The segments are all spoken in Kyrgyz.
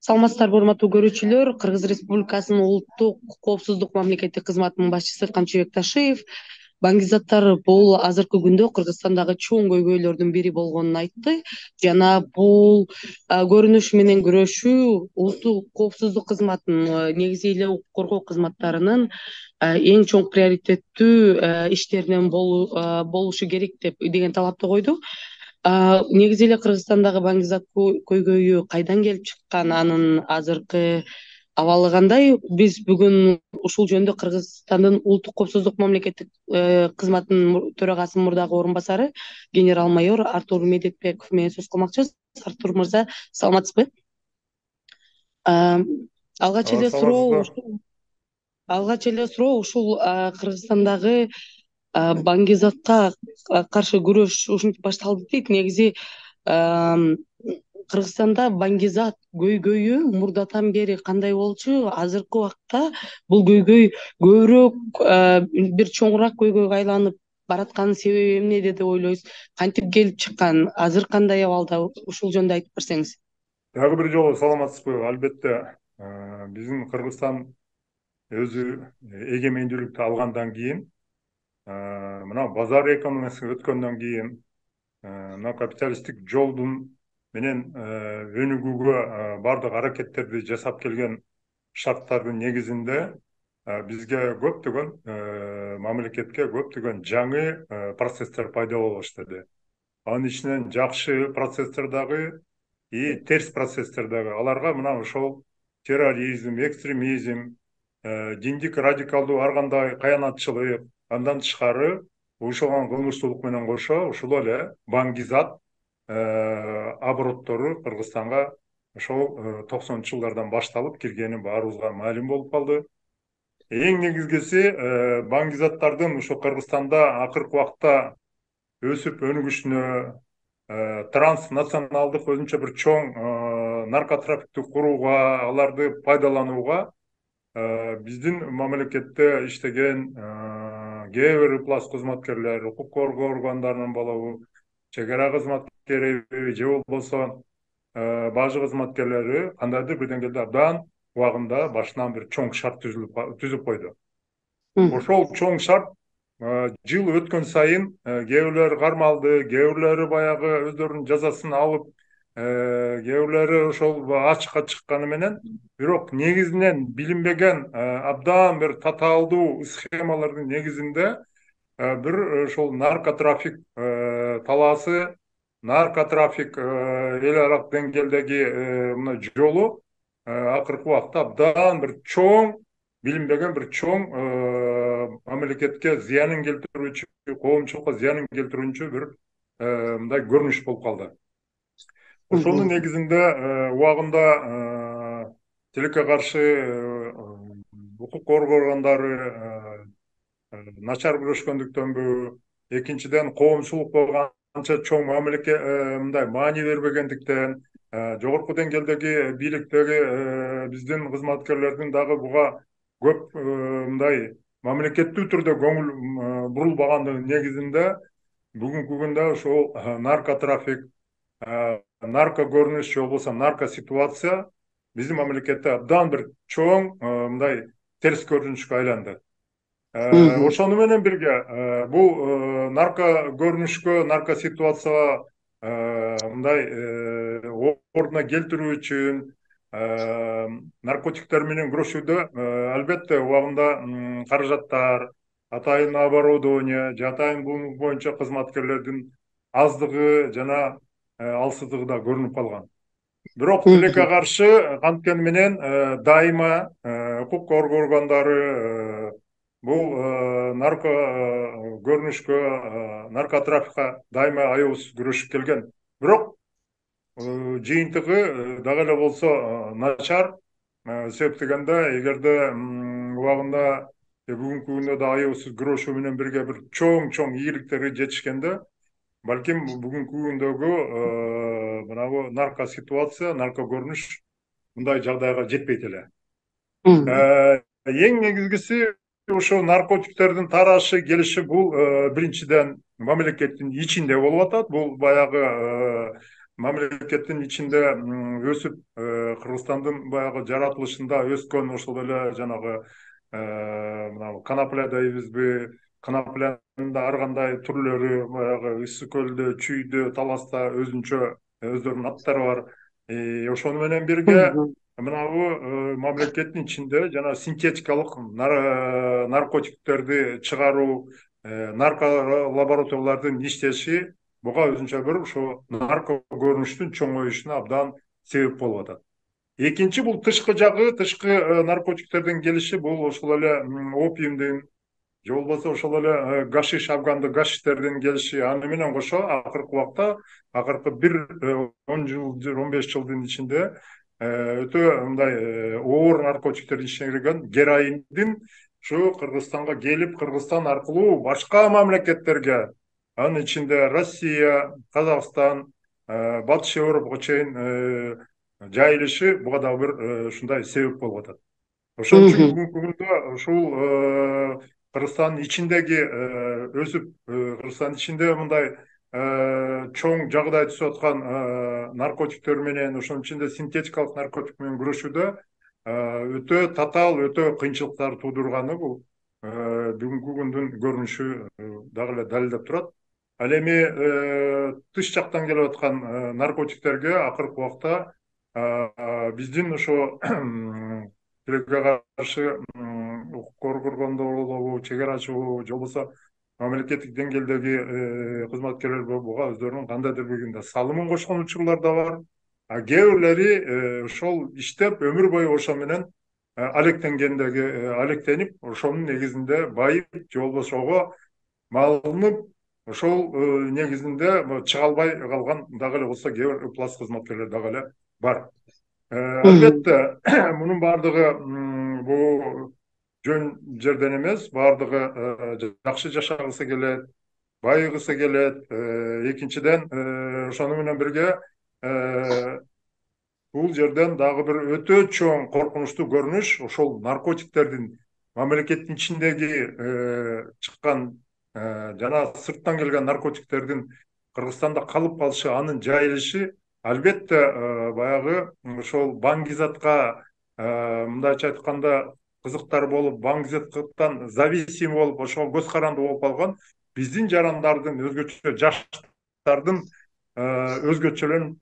Саламатсыздарбы, урматтуу көрүүчүлөр. Кыргыз Республикасынын улуттук коопсуздук мамлекеттик кызматынын башчысы Камчыбек Ташиев баңгизаттар бул азыркы күндө Кыргызстандагы чоң көйгөйлөрдүн бири болгонун айтты жана бул көрүнүш менен күрөшүү улуттук коопсуздук кызматынын негизи эле укук коргоо кызматтарынын эң чоң приоритеттүү иштеринен болушу керек деген талапты койду. Негизи эле Кыргызстандагы баңгизат көйгөйү кайдан келип чыккан, анын азыркы абалы кандай? Биз бүгүн ушул жөнүндө Кыргызстандын улуттук коопсуздук мамлекеттик кызматынын төрагасынын мурдагы орун басары генерал-майор Артур Медетбеков менен сөз кылмакчыбыз. Артур мырза, саламатсызбы? Алгач эле суроо Саламатсызбы? ушул ушул Кыргызстандагы баңгизатка каршы күрөш ушинтип башталды дейт. Негизи Кыргызстанда баңгизат көйгөйү мурдатан бери кандай болчу? Азыркы убакта бул көйгөй көбүрөөк бир чоңураак көйгөйгө айланып баратканын себеби эмнеде деп ойлойсуз? Кантип келип чыккан? Азыр кандай абалда? Ушул жөнүндө айтып берсеңиз. Дагы бир жолу саламатсызбы? Албетте, биздин Кыргызстан өзү эгемендүүлүктү алгандан кийин, мына базар экономикасына өткөндөн кийин, мына капиталисттик жолдун менен өнүгүүгө бардык аракеттерди жасап келген шарттардын негизинде бизге көптөгөн мамлекетке көптөгөн жаңы процесстер пайда боло баштады. Анын ичинен жакшы процесстер дагы и терс процесстер дагы. Аларга мына ошол терроризм, экстремизм, диндик радикалдуу ар кандай каянатчылык, андан тышкары уюшулган кылмыштуулук менен кошо ушул эле баңгизат обороттору Кыргызстанга ошол 90 жылдардан башталып киргени баарыбызга маалым болуп калды. Эң негизгиси баңгизаттардын ошо Кыргызстанда акыркы убакта өсүп өнүгүшүнө, транснационалдык өзүнчө бир чоң наркотрафикти курууга, аларды пайдаланууга биздин мамлекетте иштеген кээ бир ыплас кызматкерлер, укук коргоо органдарынын болобу, чек ара кызматкери же болбосо бажы кызматкерлери кандайдыр бир деңгээлде абдан убагында башынан бир чоң шарт түзүп койду. Ошол чоң шарт жыл өткөн сайын кээ бирлери кармалды, кээ бирлери баягы өздөрүнүн жазасын алып, кээ бирлери ошол ачыкка чыкканы менен, бирок негизинен билинбеген абдан бир татаалдуу схемалардын негизинде бир ошол наркотрафик талаасы, наркотрафик эл аралык деңгээлдеги мына жолу акыркы убакта абдан бир чоң, билинбеген бир чоң мамлекетке зыянын келтирүүчү, коомчулукка зыянын келтирүүчү бир мындай көрүнүш болуп калды. Ошонун негизинде убагында тилекке каршы укук коргоо органдары начар күрөшкөндүктөнбү, экинчиден коомчулукка канча чоң мамлекет мындай маани бербегендиктен, жогорку деңгээлдеги бийликтеги биздин кызматкерлердин дагы буга көп мындай мамлекеттүү түрдө көңүл бурулбагандыгынын негизинде бүгүнкү күндө ошол наркотрафик, нарко көрүнүш же болбосо нарко ситуация биздин мамлекетте абдан бир чоң мындай терс көрүнүшкө айланды. Ошону менен бирге бул нарко көрүнүшкө, нарко ситуацияга мындай ордуна келтирүү үчүн наркотиктер менен күрөшүүдө албетте убагында каражаттар, атайын оборудование, же атайын бул боюнча кызматкерлердин аздыгы жана алсыздыгы да көрүнүп калган. Бирок тилекке каршы канткени менен дайыма укук коргоо органдары бул нарко көрүнүшкө, наркотрафикка дайыма аябыз күрөшүп келген. Бирок жыйынтыгы дагы эле болсо начар. Себеп дегенде эгерде убагында бүгүнкү күндө да аябыз күрөшүү менен бирге бир чоң ийгиликтерге жетишкенде, балким бүгүнкү күндөгү мынабу нарко ситуация, нарко көрүнүш мындай жагдайга жетпейт эле. Эң негизгиси ошо наркотиктердин тарашы келиши бул биринчиден мамлекеттин ичинде болуп атат. Бул баягы мамлекеттин ичинде өсүп, Кыргызстандын баягы жаратылышында өскөн ошол эле жанагы мына конопля дейбизби, коноплянын да ар кандай түрлөрү, баягы ысык көлдө, чүйдө, таласта өздөрүнүн аттары бар. Ошону менен бирге Мгм. мынабу мамлекеттин ичинде жана синтетикалык наркотиктерди чыгаруу, нарко лабораториялардын иштеши буга өзүнчө бир ошо нарко көрүнүштүн чоңоюшуна абдан себеп болуп атат. Экинчи бул тышкы жагы, тышкы наркотиктердин келиши бул ошол эле опиумдун же болбосо ошол эле гашиш, афганды гашиштердин келиши. Аны менен кошо акыркы убакта, акыркы бир 10 жыл, 15 жылдын ичинде өтө мындай оор наркотиктердин ичине кирген героиндин ушу Кыргызстанга келип, Кыргызстан аркылуу башка мамлекеттерге, анын ичинде Россия, Казакстан, Батыш Европага чейин жайылышы буга дагы бир ушундай себеп болуп атат. Ошон үчүн Мгм. бүгүнкү күндө ушул Кыргызстандын ичиндеги өсүп, Кыргызстандын ичинде мындай чоң жагдай түзүп аткан наркотиктер менен, ошонун ичинде синтетикалык наркотик менен күрөшүүдө өтө татаал, өтө кыйынчылыктар туудурганы бул бүгүнкү күндүн көрүнүшү дагы эле далилдеп турат. Ал эми тыш жактан келип аткан наркотиктерге акыркы убакта биздин ошо тилекке каршы укук коргогондор болобу, чек арачы болобу, же болбосо мамлекеттик деңгээлдеги кызматкерлер буга өздөрүнүн кандайдыр бир салымын кошкон учурлар да бар. А кээ бирлери ошол иштеп өмүр бою ошо менен алектенип, ошонун негизинде байып, же болбосо ого малынып, ошол негизинде чыга албай калган дагы эле болсо кээ бир ыплас кызматкерлер дагы эле бар. Мгм. Албетте мунун баардыгы бул жөн жерден эмес, баардыгы жакшы жашагысы келет, байыгысы келет. Экинчиден ошону менен бирге бул жерден дагы бир өтө чоң коркунучтуу көрүнүш ошол наркотиктердин мамлекеттин ичиндеги чыккан жана сырттан келген наркотиктердин Кыргызстанда калып калышы, анын жайылышы албетте баягы ошол баңгизатка мындайча айтканда кызыктар болуп, баңгизаттан зависимый болуп, ошого көз каранды болуп калган биздин жарандардын, өзгөчө жаштардын өзгөчөлөн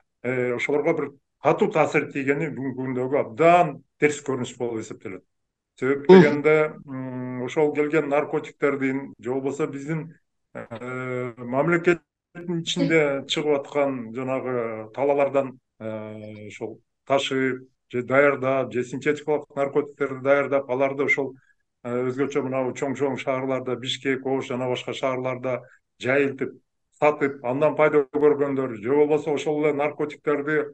ошолорго бир катуу таасир тийгени бүгүнкү күндөгү абдан терс көрүнүш болуп эсептелет. Себеп Мгм. дегенде ошол келген наркотиктердин же болбосо биздин мамлекеттин ичинде чыгып аткан жанагы талаалардан ошол ташып же даярдап, же синтетикалык наркотиктерди даярдап, аларды ошол өзгөчө мынабу чоң чоң шаарларда, Бишкек, Ош жана башка шаарларда жайылтып, сатып, андан пайда көргөндөр, же болбосо ошол эле наркотиктерди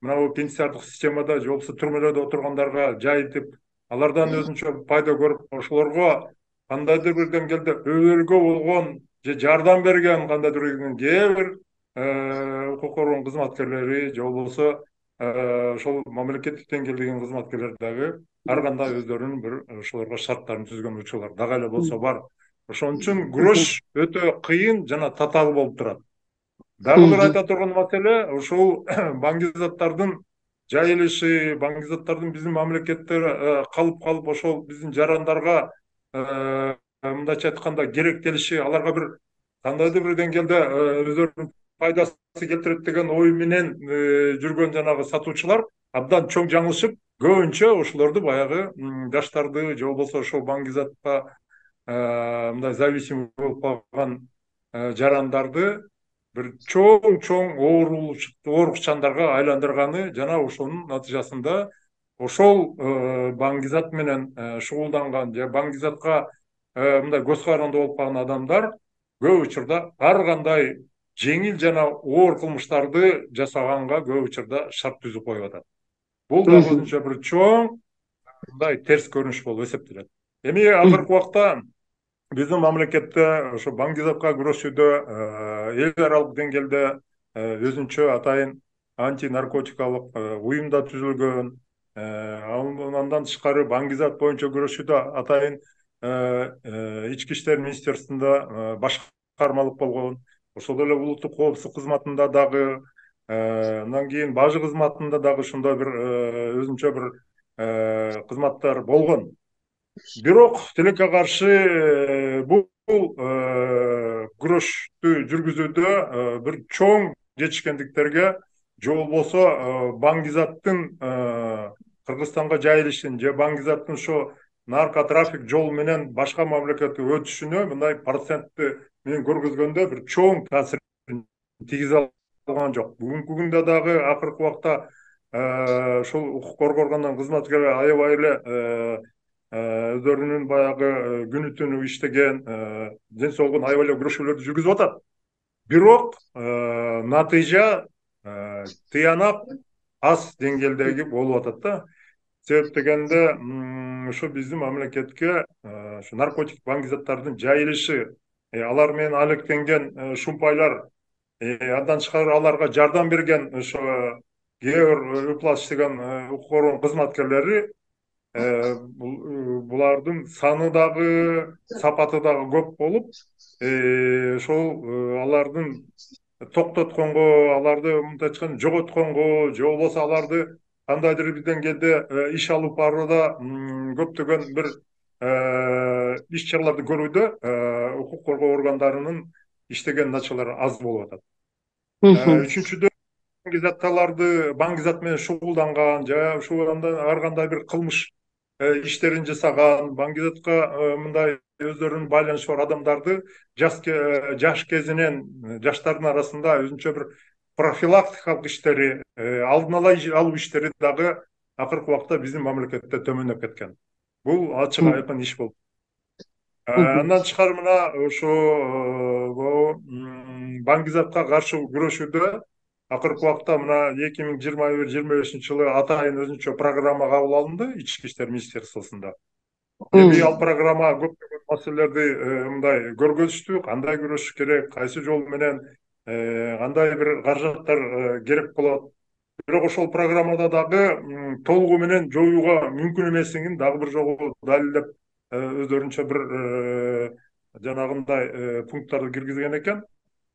мынабу пенсиардык системада же болбосо түрмөлөрдө отургандарга жайылтып, алардан өзүнчө пайда көрүп, ошолорго кандайдыр бир деңгээлде өбөлгө болгон же жардам берген кандайдыр кээ бир укук коргоон кызматкерлери же болбосо ошол мамлекеттик деңгээлдеги кызматкерлер дагы ар кандай өздөрүнүн бир ошолорго шарттарын түзгөн учурлар дагы эле болсо бар. Ошон үчүн Мгм. күрөш өтө кыйын жана татаал болуп турат. Дагы бир Мгм. айта турган маселе ушул баңгизаттардын жайылышы, баңгизаттардын биздин мамлекетте калып ошол биздин жарандарга мындайча айтканда керектелиши, аларга бир кандайдыр бир деңгээлде өздөрүнүн пайдасы келтирет деген ой менен жүргөн жанагы сатуучулар абдан чоң жаңылышып, көбүнчө ошолорду баягы жаштарды же болбосо ошол баңгизатка мындай зависимый болуп калган жарандарды бир чоң чоң оорукчандарга айландырганы жана ошонун натыйжасында ошол баңгизат менен шугулданган же баңгизатка мындай көз каранды болуп калган адамдар көп учурда ар кандай жеңил жана оор кылмыштарды жасаганга көп учурда шарт түзүп коюп атат. Бул дагы Мгм. өзүнчө бир чоң мындай терс көрүнүш болуп эсептелет. Эми акыркы убакта биздин мамлекетте ошо баңгизатка күрөшүүдө эл аралык деңгээлде өзүнчө атайын антинаркотикалык уюм да түзүлгөн. Андан тышкары баңгизат боюнча күрөшүүдө атайын ички иштер министерствосунда башкармалык болгон. Ошол эле улуттук коопсуздук кызматында дагы Андан кийин бажы кызматында дагы ошондой бир өзүнчө бир кызматтар болгон. Бирок тилекке каршы бул күрөштү жүргүзүүдө бир чоң жетишкендиктерге же болбосо Баңгизаттын Кыргызстанга жайылышын же Баңгизаттын ошо наркотрафик жол менен башка мамлекетке өтүшүнө мындай процентти менен көргөзгөндө бир чоң таасирин тийгизе алган жок. Бүгүнкү күндө дагы акыркы убакта ушул укук коргоо органдын кызматкерлери аябай эле өздөрүнүн баягы күнү түнү иштеген ден соолугун аябай эле күрөшүүлөрдү жүргүзүп атат. Бирок натыйжа тыянак аз деңгээлдеги болуп атат да. Себеп дегенде ушу биздин мамлекетке ушу наркотик баңгизаттардын жайылышы, алар менен алектенген шумпайлар, андан тышкары аларга жардам берген ошо кээ бир иштеген укук коргоо кызматкерлери булардын саны дагы сапаты дагы көп болуп, ошол алардын токтотконго, аларды мындай айтканда жоготконго же болбосо аларды кандайдыр бир деңгээлде иш алып барууда көптөгөн бир иш чараларды көрүүдө укук коргоо органдарынын иштеген началары аз болуп атат. Үчүнчүдөн баңгизат менен шугулданган же ар кандай бир кылмыш иштерин жасаган, баңгизатка мындай өздөрүнүн байланышы бар адамдарды жаш кезинен жаштардын арасында өзүнчө бир профилактикалык иштери, алдын ала алуу иштери дагы акыркы убакта биздин мамлекетте төмөндөп кеткен. Бул ачык айкын иш болуп. Андан тышкары мына ошо баңгизатка каршы күрөшүүдө акыркы убакта мына 2021-25 жылы атайын өзүнчө программа кабыл алынды Ички иштер министерствосунда. Эми ал программа көптөгөн маселелерди мындай көргөзүштү, кандай күрөшүш керек, кайсы жол менен кандай бир каражаттар керек болот. Бирок ошол программада дагы толугу менен жоюуга мүмкүн эмеслигин дагы бир жолу далилдеп өздөрүнчө бир жанагындай пункттарды киргизген экен.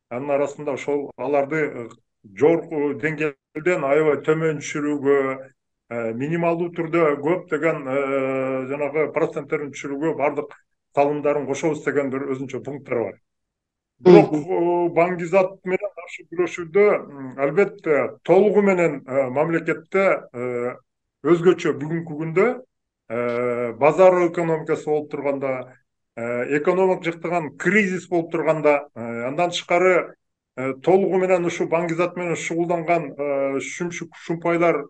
Анын арасында ошол аларды жогорку деңгээлден аябай төмөн түшүрүүгө, минималдуу түрдө көптөгөн жанагы проценттерин түшүрүүгө бардык салымдарын кошобуз деген бир өзүнчө пункттар бар. Бирок баңгизат менен каршы күрөшүүдө албетте толугу менен мамлекетте өзгөчө бүгүнкү күндө базар экономикасы болуп турганда, экономик жактан кризис болуп турганда, андан тышкары толугу менен ушу баңгизат менен шугулданган шумпайлар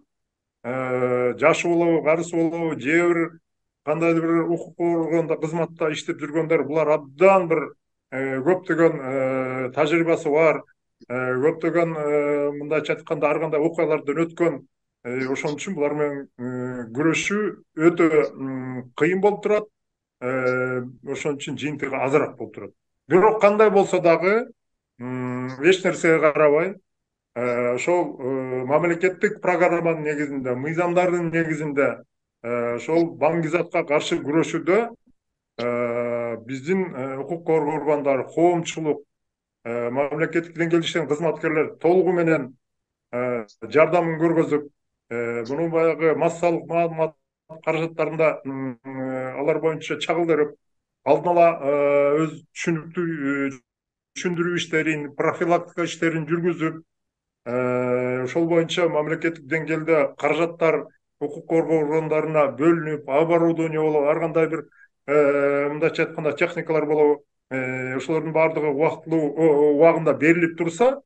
жашы болобу, карысы болобу, же бир кандайдыр бир укук коргоодо кызматта иштеп жүргөндөр, булар абдан бир көптөгөн тажрыйбасы бар, көптөгөн мындайча айтканда ар кандай окуялардан өткөн. Ошон үчүн булар менен күрөшүү өтө кыйын болуп турат. Ошон үчүн жыйынтыгы азыраак болуп турат. Бирок кандай болсо дагы эч нерсеге карабай ошол мамлекеттик программанын негизинде, мыйзамдардын негизинде ошол баңгизатка каршы күрөшүүдө биздин укук коргоо органдары, коомчулук, мамлекеттик деңгээлде иштеген кызматкерлер толугу менен жардамын көргөзүп, муну баягы массалык маалымат каражаттарында алар боюнча чагылдырып, алдын ала өз түшүндүрүү иштерин, профилактика иштерин жүргүзүп, ошол боюнча мамлекеттик деңгээлде каражаттар укук коргоо органдарына бөлүнүп, оборудование болобу, ар кандай бир мындайча айтканда техникалар болобу, ошолордун баардыгы убактылуу убагында берилип турса,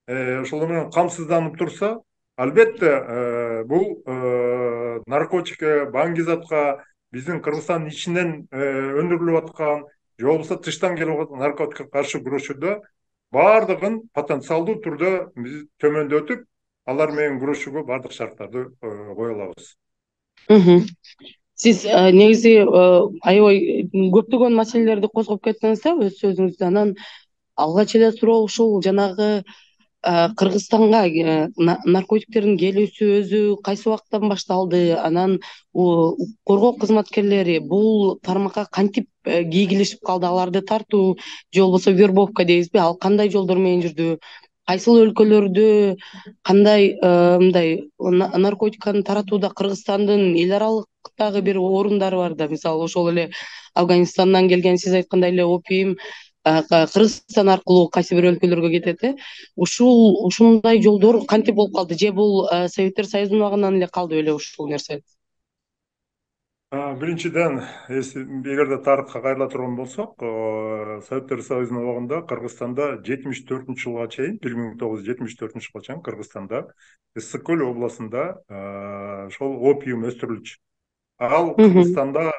ошол менен камсызданып турса, албетте бул наркотикке, баңгизатка, биздин Кыргызстандын ичинен өндүрүлүп аткан же болбосо тыштан келип аткан наркотикке каршы күрөшүүдө баардыгын потенциалдуу түрдө биз төмөндөтүп, алар менен күрөшүүгө баардык шарттарды кое алабыз. Сиз негизи аябай көптөгөн маселелерди козгоп кеттиңиз да өз сөзүңүздө. Анан алгач эле суроо ушул жанагы Кыргызстанга наркотиктердин келүүсү өзү кайсы убактан башталды? Анан коргоо кызматкерлери бул тармакка кантип кийгилишип калды? Аларды тартуу же болбосо вербовка дейбизби? Ал кандай жолдор менен жүрдү? кайсыл өлкөлөрдө кандай мындай наркотиканы таратууда Кыргызстандын эл аралыктагы бир орундары бар да, мисалы ошол эле Афганистандан келген сиз айткандай эле опиум Кыргызстан аркылуу кайсы бир өлкөлөргө кетет ушундай жолдор кантип болуп калды, же бул Советтер Союзунун убагынан эле калды беле ушул нерсе? Биринчиден, эгерде тарыхка кайрыла турган болсок, Советтер Союзунун убагында Кыргызстанда 74 жылга чейин, 1974 жылга чейин Кыргызстанда Ысык көл областында ошол опиум өстүрүлчү. Ал Кыргызстанда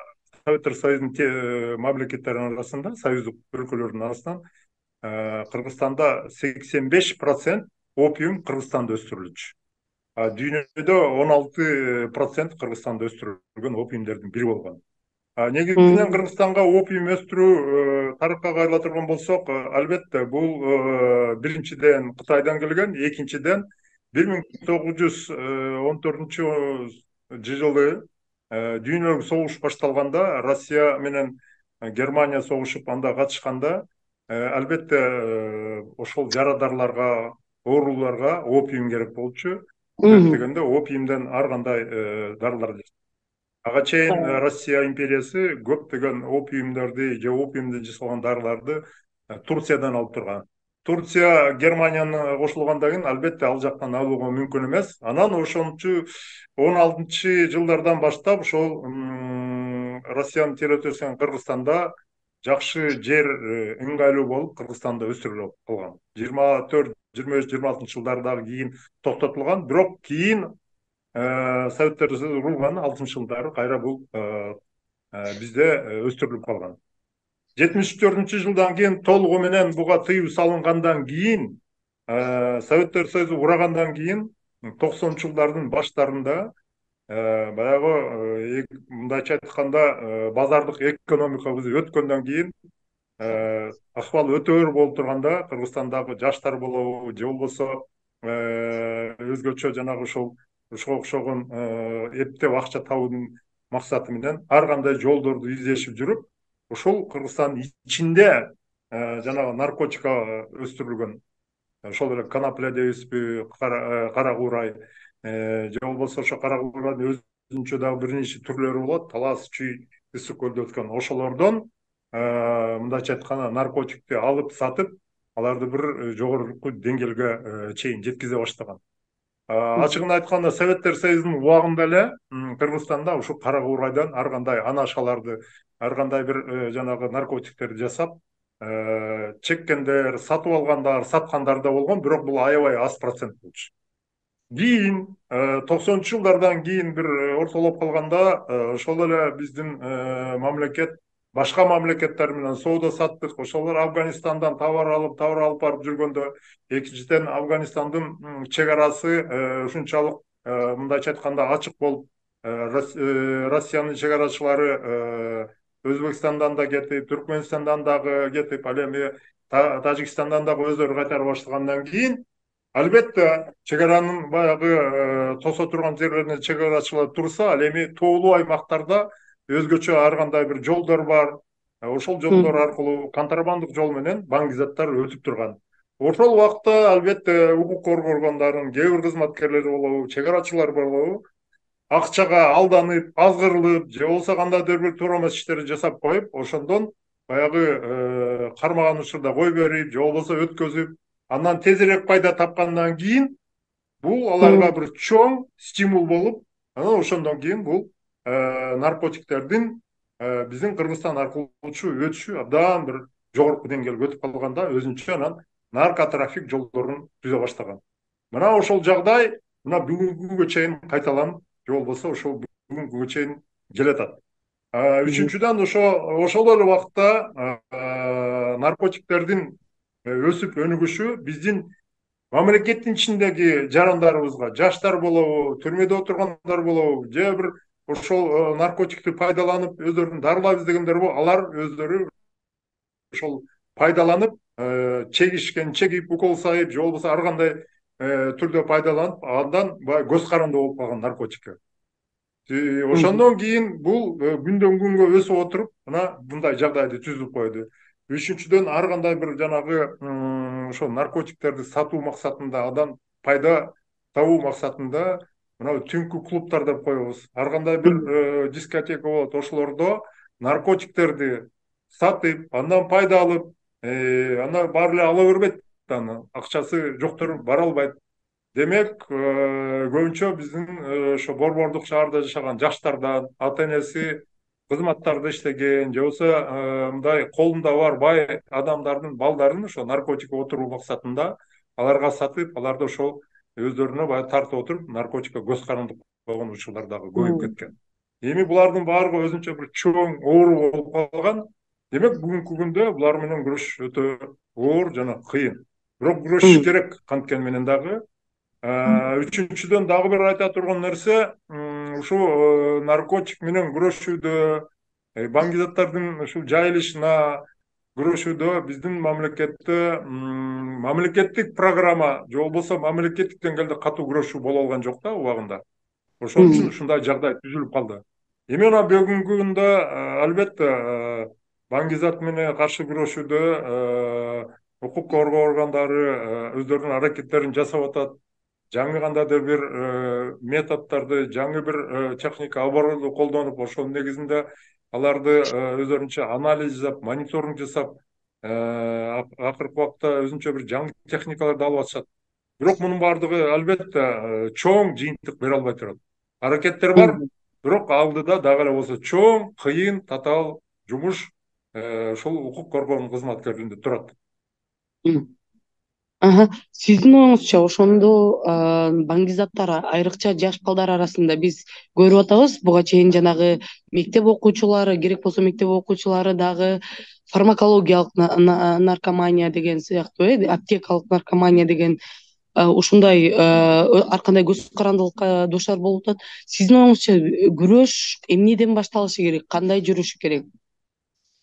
Советтер Союзунун мамлекеттеринин арасында, союздук өлкөлөрдүн арасынан Кыргызстанда 85% опиум Кыргызстанда өстүрүлчү. Дүйнөдө 16% Кыргызстанда өстүрүлгөн опиумдердин бири болгон. Негизинен Кыргызстанга опиум өстүрүү тарыхка кайрыла турган болсок, албетте бул биринчиден Кытайдан келген, экинчиден 1914 жылы дүйнөлүк согуш башталганда, Россия менен Германия согушуп анда катышканда, албетте ошол жарадарларга, ооруларга опиум керек болчу. Себеп дегенде опиумден ар кандай дарылар. Ага чейин Россия империясы көптөгөн опиумдарды же опиумден жасалган дарыларды Турциядан алып турган. Турция Германияны кошулгандан кийин албетте ал жактан алууга мүмкүн эмес. Анан ошончу 16-жылдардан баштап ошол Россиянын территориясынан Кыргызстанда жакшы жер ыңгайлуу болуп, Кыргызстанда өстүрүлүп калган. 24, 25, 26 жылдардагы кийин токтотулган, бирок кийин Советтер Союзу курулган 60-жылдары кайра бул бизде өстүрүлүп калган. 74-жылдан кийин толугу менен буга тыюу салынгандан кийин, Советтер Союзу курагандан кийин 90-жылдардын баштарында баягы мындайча айтканда базардык экономикабыз өткөндөн кийин акыбал өтө оор болуп турганда, Кыргызстандагы жаштар болобу же болбосо өзгөчө жанагы ошого окшогон эптеп акча табуунун максаты менен ар кандай жолдорду издешип жүрүп, ошол Кыргызстандын ичинде жанагы наркотика өстүрүлгөн, ошол эле конопля дейбизби, кара куурай, же болбосо ошо кара куурайдын өзүнчө дагы бир нече түрлөрү болот, талас, чүй, ысык көлдө өткөн. Ошолордон мындайча айтканда наркотикти алып сатып, аларды бир жогорку деңгээлге чейин жеткизе баштаган. Ачыгын айтканда, Советтер Союзунун убагында эле Кыргызстанда ушу кара куурайдан ар кандай анашаларды, ар кандай бир жанагы наркотиктерди жасап, чеккендер, сатып алгандар, саткандар да болгон, бирок бул аябай аз процент болчу. Кийин 90-жылдардан кийин бир ортолоп калганда, ошол эле биздин мамлекет башка мамлекеттер менен соода саттык, ошолор Афганистандан товар алып барып жүргөндө, экинчиден Афганистандын чек арасы ушунчалык мындайча айтканда ачык болуп, Россиянын чек арачылары Өзбекстандан да кетип, Түркменистандан дагы кетип, ал эми Тажикстандан дагы өздөрү кайтара баштагандан кийин, албетте чек аранын баягы тосо турган жерлерине чек арачылар турса, ал эми тоолуу аймактарда өзгөчө ар кандай бир жолдор бар. Ошол жолдор аркылуу контрабандык жол менен баңгизаттар өтүп турган. Ошол убакта албетте укук коргоогондордун кээ бир кызматкерлери болобу, чек арачылар болобу, акчага алданып, азгырылып, же болбосо кандайдыр бир туура эмес иштерди жасап коюп, ошондон баягы кармаган учурда кой берип, же болбосо өткөзүп, андан тезирээк пайда тапкандан кийин бул аларга бир чоң стимул болуп, анан ошондон кийин бул наркотиктердин биздин Кыргызстан аркылуу өтүшү абдан бир жогорку деңгээлге өтүп калганда, өзүнчө анан наркотрафик жолдорун түзө баштаган. Мына ошол жагдай мына бүгүнкү күнгө чейин кайталанып, же болбосо ошол бүгүнкү күнгө чейин келатат. Үчүнчүдөн ошол эле убакта наркотиктердин өсүп өнүгүшү биздин мамлекеттин ичиндеги жарандарыбызга, жаштар болобу, түрмөдө отургандар болобу, же бир ошол наркотикти пайдаланып өздөрүн дарылайбыз дегендер болобу, алар өздөрү ошол пайдаланып, чегип, укол сайып, же болбосо ар кандай түрдө пайдаланып, андан баягы көз каранды болуп калган наркотикке. Ошондон кийин бул күндөн күнгө өсүп отуруп, мына мындай жагдайды түзүп койду. Үчүнчүдөн ар кандай бир жанагы ошо наркотиктерди сатуу максатында, адам пайда табуу максатында мына түнкү клубтар деп коебуз. Ар кандай бир дискотека болот, ошолордо наркотиктерди сатып, андан пайда алып, аны баары эле ала бербейт, аны акчасы жоктор бара албайт. Демек, көбүнчө биздин ошо борбордук шаарда жашаган жаштардан, ата энеси кызматтарда иштеген же болбосо мындай колунда бар бай адамдардын балдарын ошо наркотикке отуруу максатында аларга сатып, аларды ошол өздөрүнө баягы тартып отуруп, наркотикке көз карандык болгон учурлар дагы көбөйүп кеткен. Эми булардын баардыгы өзүнчө бир чоң оору болуп калган. Демек, бүгүнкү күндө булар менен күрөш өтө оор жана кыйын. Бирок күрөшүш керек канткени менен дагы. Үчүнчүдөн дагы бир айта турган нерсе, ушул наркотик менен күрөшүүдө, баңгизаттардын ушул жайылышына күрөшүүдө биздин мамлекетте мамлекеттик программа же болбосо мамлекеттик деңгээлде катуу күрөшүү боло алган жок да убагында. Ошон үчүн ушундай жагдай түзүлүп калды. Эми мына бүгүнкү күндө албетте баңгизат менен каршы күрөшүүдө укук коргоо органдары өздөрүнүн аракеттерин жасап атат. Жаңы кандайдыр бир методдорду, жаңы бир техника оборудование колдонуп, ошонун негизинде аларды өздөрүнчө анализ жасап, мониторинг жасап, акыркы убакта өзүнчө бир жаңы техникаларды алып атышат. Бирок мунун баардыгы албетте чоң жыйынтык бере албай турат. Аракеттер бар, бирок алдыда дагы эле болсо чоң, кыйын, татаал жумуш ушул укук коргоо кызматкерлеринде турат. Сиздин оюңузча ошондо баңгизаттар, айрыкча жаш балдар арасында биз көрүп атабыз, буга чейин жанагы мектеп окуучулары, керек болсо мектеп окуучулары дагы фармакологиялык наркомания деген сыяктуу, аптекалык наркомания деген ушундай ар кандай көз карандылыкка дуушар болуп атат. Сиздин оюңузча күрөш эмнеден башталышы керек, кандай жүрүшү керек?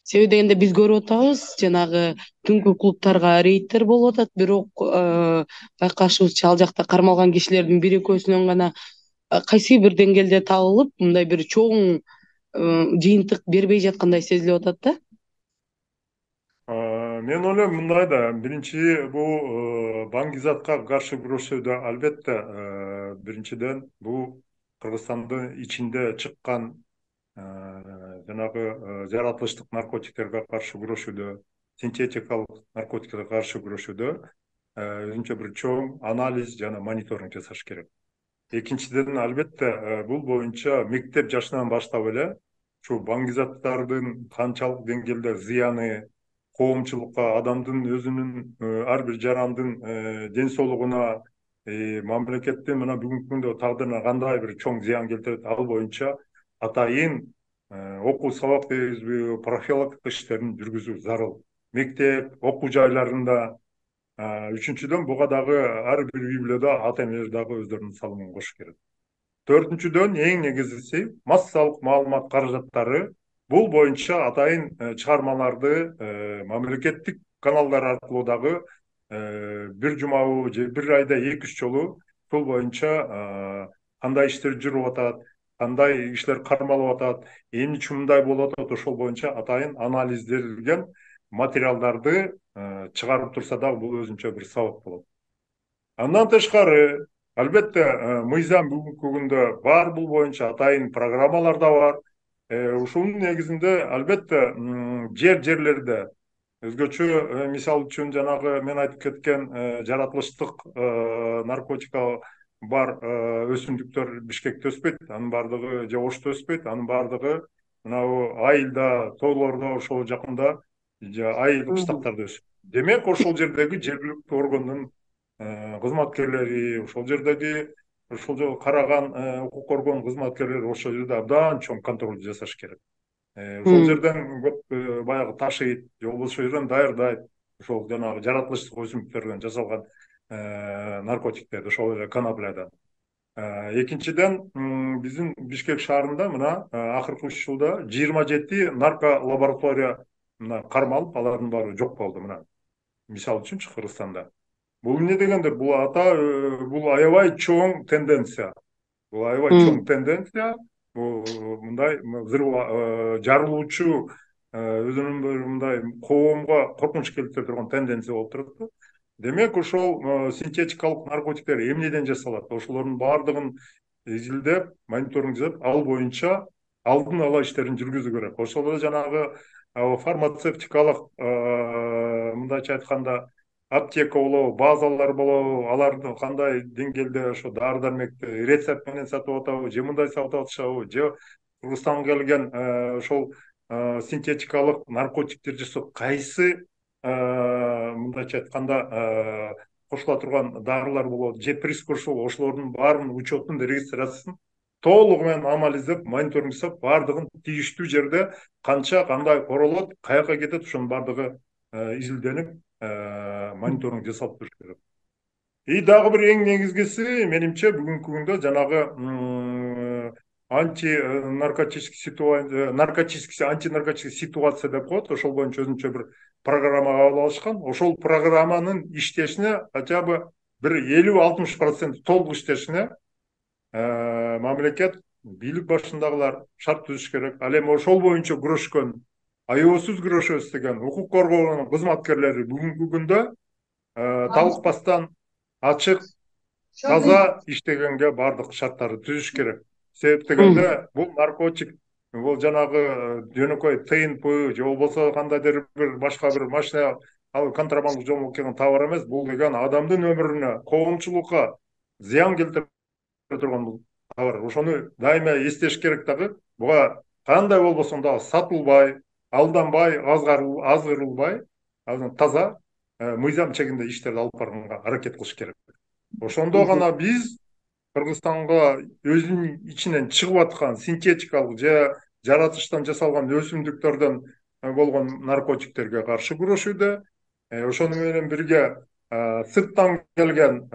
Себеби дегенде биз көрүп атабыз, жанагы түнкү клубтарга рейдтер болуп атат, бирок байкашыбызча ал жакта кармалган кишилердин бир экөөсүнөн гана кайсы бир деңгээлде табылып, мындай бир чоң жыйынтык бербей жаткандай сезилип атат да. Мен ойлойм мындай да, биринчи бул баңгизатка каршы күрөшүүдө албетте биринчиден бул Кыргызстандын ичинде чыккан жанагы жаратылыштык наркотиктерге каршы күрөшүүдө, синтетикалык наркотиктерге каршы күрөшүүдө өзүнчө бир чоң анализ жана мониторинг жасаш керек. Экинчиден, албетте бул боюнча мектеп жашынан баштап эле ушул баңгизаттардын канчалык деңгээлде зыяны коомчулукка, адамдын өзүнүн ар бир жарандын ден соолугуна, мамлекеттин мына бүгүнкү күндө тагдырына кандай бир чоң зыян келтирет, ал боюнча атайын окуу сабак дейбизби, профилактика иштерин жүргүзүү зарыл. Мектеп, окуу жайларында. Үчүнчүдөн, буга дагы ар бир үй бүлөдө ата энелер дагы өздөрүнүн салымын кошуш керек. Төртүнчүдөн, эң негизгиси массалык маалымат каражаттары бул боюнча атайын чыгармаларды мамлекеттик каналдар аркылуу дагы бир жумабы же бир айда 2-3 жолу бул боюнча кандай иштер жүрүп атат, кандай иштер кармалып атат, эмне үчүн мындай болуп атат, ошол боюнча атайын анализделген материалдарды чыгарып турса дагы бул өзүнчө бир сабак болот. Андан тышкары, албетте мыйзам бүгүнкү күндө бар, бул боюнча атайын программалар да бар. Ушунун негизинде албетте жерлерде өзгөчө, мисалы үчүн жанагы мен айтып кеткен жаратылыштык наркотика бар өсүмдүктөр Бишкекте өспөйт, анын баардыгы же Ошто өспөйт, анын баардыгы мынабу айылда, тоолордо, ошол жакында айыл кыштактарда өсөт. Демек, ошол жердеги жергиликтүү органдын кызматкерлери, ошол жердеги ошол караган укук коргоо кызматкерлери ошол жерде абдан чоң контролду жасаш керек. Ошол жерден көп баягы ташыйт, же болбосо ошол жерден даярдайт, ошол жанагы жаратылыштык өсүмдүктөрдөн жасалган наркотиктерди, ошол эле коноплядан. Экинчиден, биздин Бишкек шаарында мына акыркы 3 жылда 27 нарко лаборатория кармалып, алардын баары жок болду. Мына мисалы үчүнчү Кыргызстанда. Бул эмне дегенде, бул бул аябай чоң тенденция. Бул аябай чоң тенденция. Бул мындай жарылуучу өзүнүн бир мындай коомго коркунуч келтире турган тенденция болуп турат. Демек ошол синтетикалык наркотиктер эмнеден жасалат? Ошолордун баардыгын изилдеп, мониторинг жасап, ал боюнча алдын ала иштерин жүргүзүү керек. Ошол эле жанагы фармацевтикалык, мындайча айтканда, аптека болобу, базалар болобу, аларды кандай деңгээлде ошо дары дармекти рецепт менен сатып атабы, же мындай сатып атышабы, же Кыргызстанга келген ошол синтетикалык наркотиктер жасоо кайсы мындайча айтканда кошула турган дарылар болот, же прискурсор, ошолордун баарынын учетун, регистрациясын толугу менен анализдеп, мониторинг жасап, баардыгын тийиштүү жерде канча кандай королот, каяка кетет, ошонун баардыгы изилденип, мониторинг жасалып туруш керек. И дагы бир эң негизгиси, менимче, бүгүнкү күндө жанагы антинаркотический ситуация деп коет, ошол боюнча өзүнчө бир программа кабыл алышкан. Ошол программанын иштешине хотя бы бир 50-60% толук иштешине мамлекет, бийлик башындагылар шарт түзүш керек. Ал эми ошол боюнча күрөшкөн, аябысыз күрөшөбүз деген укук коргоо кызматкерлери бүгүнкү күндө талыкпастан ачык, таза иштегенге баардык шарттарды түзүш керек. Себеп дегенде бул наркотик, бул жанагы жөнөкөй ТНП же болбосо кандайдыр бир башка бир машина, ал контрабандалык жол менен келген товар эмес. Бул деген адамдын өмүрүнө, коомчулукка зыян келтире турган бул товар. Ошону дайыма эстеш керек дагы. Буга кандай болбосун дагы сатылбай, алданбай, азгырылбай, таза мыйзам чегинде иштерди алып барганга аракет кылыш керек. Ошондо гана биз Кыргызстанга өзүнүн ичинен чыгып аткан синтетикалык же жаратылыштан жасалган өсүмдүктөрдөн болгон наркотиктерге каршы күрөшүүдө, ошону менен бирге сырттан келген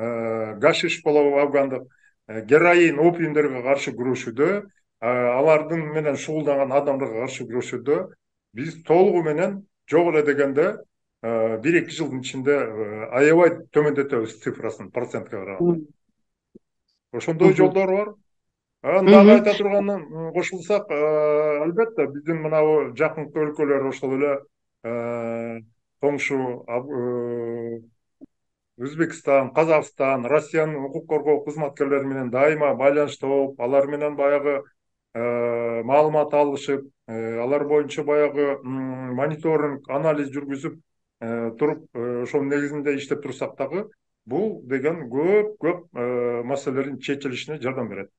гашиш болобу, афгандык героин, опиумдерге каршы күрөшүүдө, алардын менен шугулданган адамдарга каршы күрөшүүдө биз толугу менен жок эле дегенде 1-2 жылдын ичинде аябай төмөндөтөбүз цифрасын процентке караганда. Ошондой жолдор бар. Дагы айта турганым кошулсак, албетте биздин мынабу жакынкы өлкөлөр, ошол эле коңшу Өзбекстан, Казакстан, Россиянын укук коргоо кызматкерлери менен дайыма байланышта болуп, алар менен баягы маалымат алышып, алар боюнча баягы мониторинг, анализ жүргүзүп туруп, ошонун негизинде иштеп турсак дагы, бул деген көп маселелердин чечилишине жардам берет.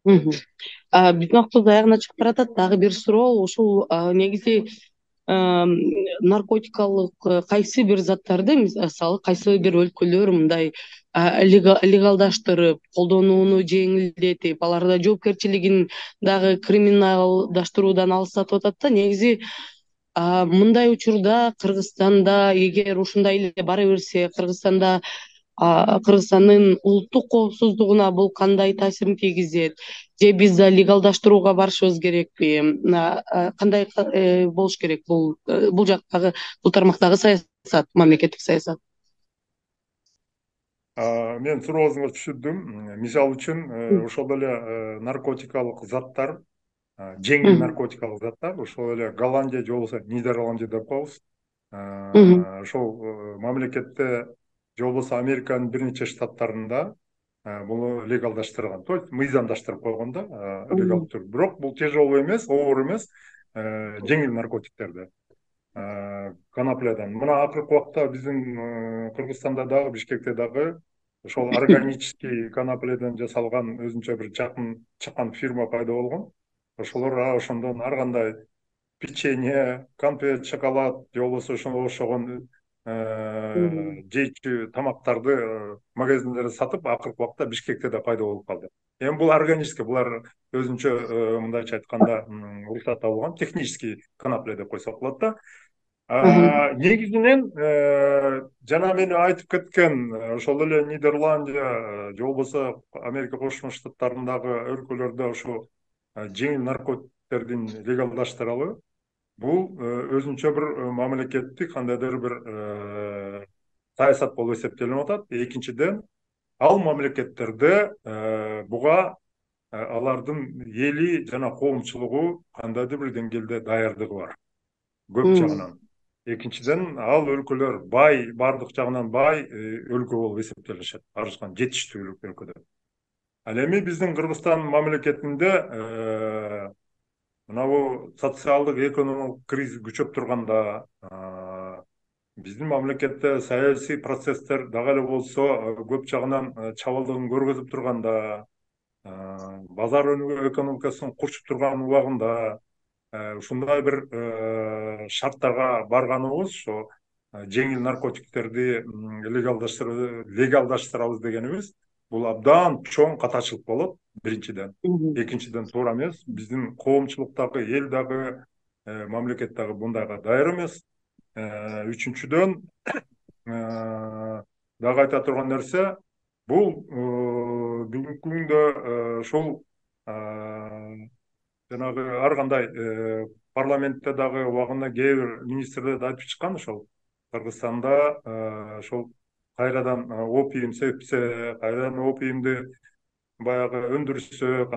Биздин убактыбыз аягына чыгып баратат. Дагы бир суроо, ушул негизи наркотикалык кайсы бир заттарды, мисалы кайсы бир өлкөлөр мындай легалдаштырып, колдонууну жеңилдетип, аларда жоопкерчилигин дагы криминалдаштыруудан алыстатып атат да. Негизи мындай учурда Кыргызстанда эгер ушундай эле бара берсе, Кыргызстандын улуттук коопсуздугуна бул кандай таасирин тийгизет? Же биз да легалдаштырууга барышыбыз керекпи? Кандай болуш керек бул жактагы, бул тармактагы саясат, мамлекеттик саясат? Мен сурооңузду түшүндүм. Мисалы үчүн, ошол эле наркотикалык заттар, жеңил наркотикалык заттар, ошол эле Голландия же болбосо Нидерландия деп коебуз. Ошол мамлекетте же болбосо Американын бир нече штаттарында буну легалдаштырган, то есть мыйзамдаштырып койгон да, легал түрдө. Бирок бул тяжелый эмес, оор эмес, жеңил наркотиктерди, коноплядан. Мына акыркы убакта биздин Кыргызстанда дагы, Бишкекте дагы ошол органический конопляден жасалган өзүнчө бир жакын чыккан фирма пайда болгон. Ошолор ошондон ар кандай печенье, конфет, шоколад же болбосо ошого окшогон жейчү тамактарды магазиндерде сатып, акыркы убакта Бишкекте да пайда болуп калды. Эми бул органический, булар өзүнчө мындайча айтканда уруксат табылган технический конопля деп койсок болот да. Негизинен жана мен айтып кеткен ошол эле Нидерландия же болбосо Америка Кошмо Штаттарындагы өлкөлөрдө ошо жеңил наркотиктердин легалдаштыралы, бул өзүнчө бир мамлекеттик кандайдыр бир саясат болуп эсептелип атат. Экинчиден, ал мамлекеттерде буга алардын эли жана коомчулугу кандайдыр бир деңгээлде даярдыгы бар, көп жагынан. Экинчиден, ал өлкөлөр бай, баардык жагынан бай өлкө болуп эсептелишет, арзан жетиштүү өлкөдө. Ал эми биздин Кыргызстан мамлекетинде мынабу социалдык экономикалык кризис күчөп турганда, биздин мамлекетте саясий процесстер дагы эле болсо көп жагынан чабалдыгын көргөзүп турганда, базар экономикасын курчуп турган убагында ушундай бир шарттарга барганыбыз, ошо жеңил наркотиктерди легалдаштырабыз дегенибиз, бул абдан чоң катачылык болот, биринчиден. Экинчиден, туура эмес. Биздин коомчулук дагы, эл дагы, мамлекет дагы бундайга даяр эмес. Үчүнчүдөн, дагы айта турган нерсе, бул бүгүнкү күндө ушул жанагы ар кандай парламентте дагы убагында кээ бир министрлер айтып чыккан, ошол Кыргызстанда ошол кайрадан опиум сепсе, кайрадан опиумду баягы өндүрсөк,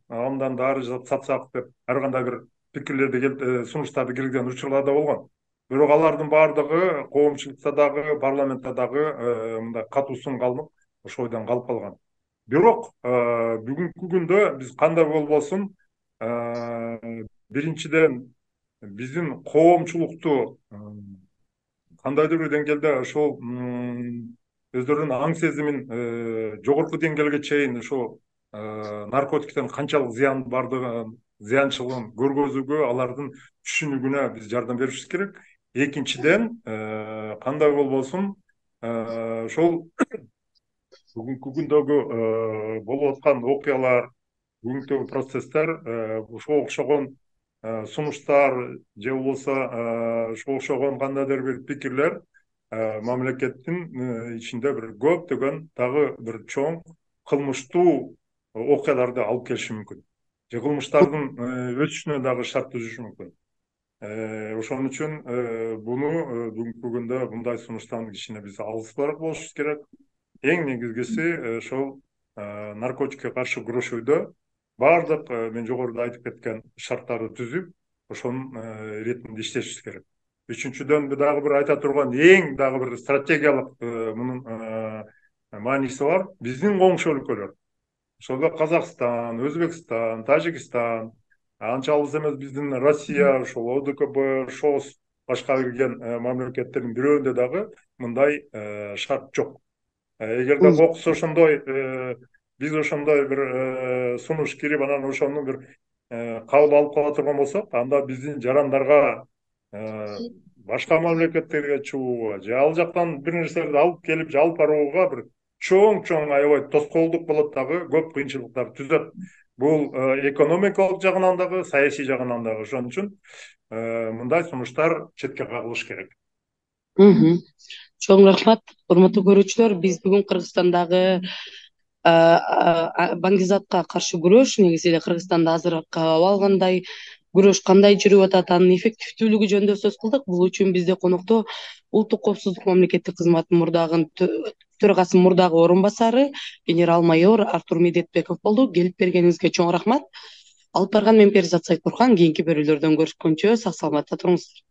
андан дары жасап сатсак деп ар кандай бир пикирлерди, сунуштарды киргизген учурлар да болгон. Бирок алардын баардыгы коомчулукта дагы, парламентте дагы мындай катуу сын калынып, ошол ойдон калып калган. Бирок бүгүнкү күндө биз кандай болбосун, биринчиден биздин коомчулукту кандайдыр бир деңгээлде ошол өздөрүнүн аң сезимин жогорку деңгээлге чейин ошол наркотиктин канчалык зыянчылыгын көргөзүүгө, алардын түшүнүгүнө биз жардам беришибиз керек. Экинчиден, кандай болбосун, ошол бүгүнкү күндөгү болуп аткан окуялар, бүгүнкү процесстер, ошого окшогон сунуштар же болбосо ошого окшогон кандайдыр бир пикирлер мамлекеттин ичинде бир көптөгөн дагы бир чоң кылмыштуу окуяларды алып келиши мүмкүн. Же кылмыштардын өсүшүнө дагы шарт түзүшү мүмкүн. Ошон үчүн буну бүгүнкү күндө мындай сунуштан кичине биз алыспыраак болушубуз керек. Эң негизгиси ошол наркотикке каршы күрөшүүдө баардык мен жогоруда айтып кеткен шарттарды түзүп, ошонун иретинде иштешибиз керек. Үчүнчүдөн дагы бир айта турган эң дагы бир стратегиялык мунун мааниси бар. Биздин коңшу өлкөлөр, ошол Казакстан, Өзбекстан, Тажикстан, анча алыс эмес биздин Россия, ошол ОДКБ, ШОС башка кирген мамлекеттердин бирөөндө дагы мындай шарт жок. Эгерде кокус ошондой, биз ошондой бир сунуш кирип, анан ошону бир кабыл алып кала турган болсок, анда биздин жарандарга башка мамлекеттерге чыгууга же ал жактан бир нерселерди алып келип же алып барууга бир чоң аябай тоскоолдук болот, дагы көп кыйынчылыктар түзөт. Бул экономикалык жагынан дагы, саясий жагынан дагы. Ошон үчүн мындай сунуштар четке кагылыш керек. Чоң рахмат, урматтуу көрүүчүлөр. Биз бүгүн Кыргызстандагы баңгизатка каршы күрөш, негизи эле Кыргызстанда азыр кабыл алгандай күрөш кандай жүрүп атат, анын эффективдүүлүгү жөнүндө сөз кылдык. Бул үчүн бизде конокто Улуттук коопсуздук мамлекеттик кызматынын мурдагы төрагасынын мурдагы орун басары генерал-майор Артур Медетбеков болду. Келип бергениңизге чоң рахмат. Алып барган мен Перизат Сайытбурхан. Кийинки берүүлөрдөн көрүшкөнчө сак саламатта туруңуздар.